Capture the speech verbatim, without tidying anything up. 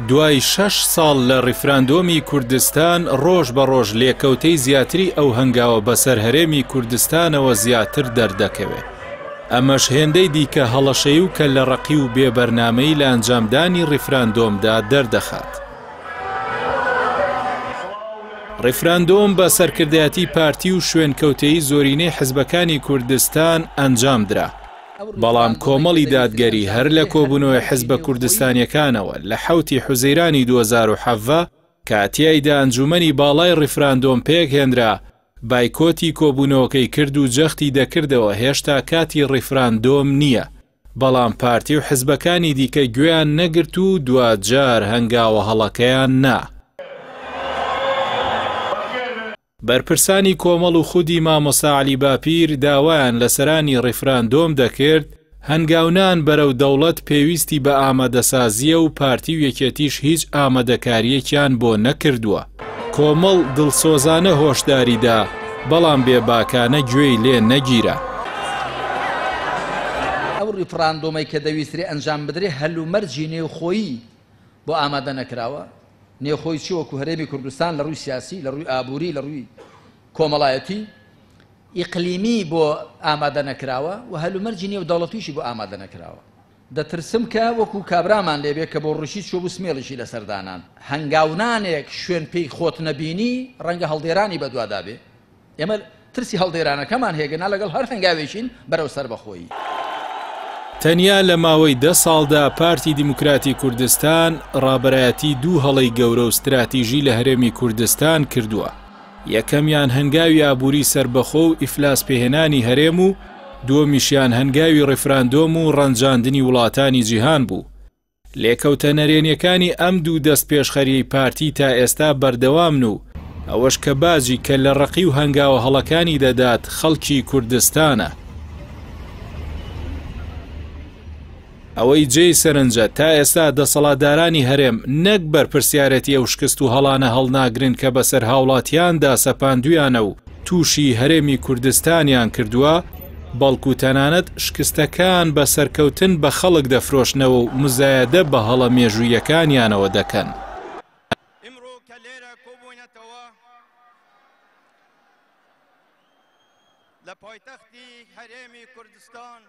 دوای شەش ساڵ لە ڕیفراندۆمی کوردستان، ڕۆژ بە ڕۆژ لێکەوتەی زیاتری ئەو هەنگاوە بەسەر هەرێمی کوردستانەوە زیاتر دەردەکەوێت. ئەمەش هێندەی دیکە هەڵەشەی و کە لە ڕەقی و بێبەرنامەی لە ئەنجامدانی ڕیفراندۆمدا دەردەخات. ڕیفراندۆم بە سەرکردایەتی پارتی و شوێنکەوتەی زۆرینەی حزبەکانی کوردستان ئەنجام درا. بەڵام کۆمەڵی دادگەری هەر لە کۆبوونەوەی حزبە کوردستانیەکانەوە لە حەوتی حوزەیرانی دوو هەزار و حەڤدە کە تیایدا ئەنجومەنی باڵای ڕیفراندۆم پێکهێنرا، بایکۆتی کۆبوونەوەکەی کرد و جەختی دەکردەوە هێشتا کاتی ڕیفراندۆم نییە. بەڵام پارتی و حزبەکانی دیکە گوێیان نەگرت و دواجار هەنگاوە هەڵەکەیان نا. بەرپرسانی کۆمەڵ و خودی مامۆستا عەلی باپیر داوایان لە سەرانی ڕیفراندۆم دەکرد هەنگاونان بەرەو دەوڵەت پێویستی بە ئامادەسازیە و پارتی و یەکێتیش هیچ ئامادەکاریەکیان بۆ نەکردووە. کۆمەڵ دڵسۆزانە هۆشداریدا، بەڵام بێباکانە گوێی لێ نەگیرا. ئەو ڕیفراندۆمەی کە دەویسترێ ئەنجام بدرێ هەلومەرجی نێوخۆیی بۆ ئامادە نەکراوە. نێوخۆی چی وەکو هەرێمی کوردستان لە ڕووی سیاسی، لە ڕووی ئابووری، لە ڕووی کۆمەڵایەتی، ئیقلیمی بۆ ئامادە نەکراوە و هەلومەرجی نێو دەوڵەتیشی بۆ ئامادە نەکراوە. دەترسم کە وەکو کابرامان لێبێ کە بۆ ڕوشی چوو بوو سمێڵیشی لەسەردانان. هەنگاونانێک شوێن پێی خۆت نەبینی ڕەنگە هەڵدێرانی بەدوادا بێ. ئێمە ترسی هەڵدێرانەکەمان هێگەنا لەگەڵ هەر هەنگاوێکین بەرەو سەربەخۆیی. تەنیا لە ماوەی دە ساڵدا پارتی دیموکراتی کوردستان ڕابەرایەتی دوو هەڵەی گەورە و ستراتیژی لە هەرێمی کوردستان کردووە. یەکەمیان هەنگاوی ئابووری سەربەخۆ و ئیفلاس پێهێنانی هەرێم و دووەمیشیان هەنگاوی ڕیفراندۆم و ڕەنجاندنی وڵاتانی جیهان بوو. لێکەوتە نەرێنیەکانی ئەم دوو دەست پێشخەریەی پارتی تا ئێستا بەردەوامن و ئەوەش کە باجی کە لە ڕەقی و هەنگاوە هەڵەکانی دەدات خەڵکی کوردستانە. ئەوەی جێی سەرنجە تا ئێستا دەسەڵاتدارانی هەرێم نەک بەرپرسیارەتی ئەو شکست و هەڵانە هەڵناگرن کە بەسەر هاوڵاتیاندا سەپاندویانە و تووشی هەرێمی کوردستانیان کردووە، بەڵکو تەنانەت شکستەکان بە سەرکەوتن بە خەڵک دەفرۆشنەوە و مزایەدە بە هەڵە مێژوویەکانیانەوە دەکەن. لە پایتەختی هەرێمی کوردستان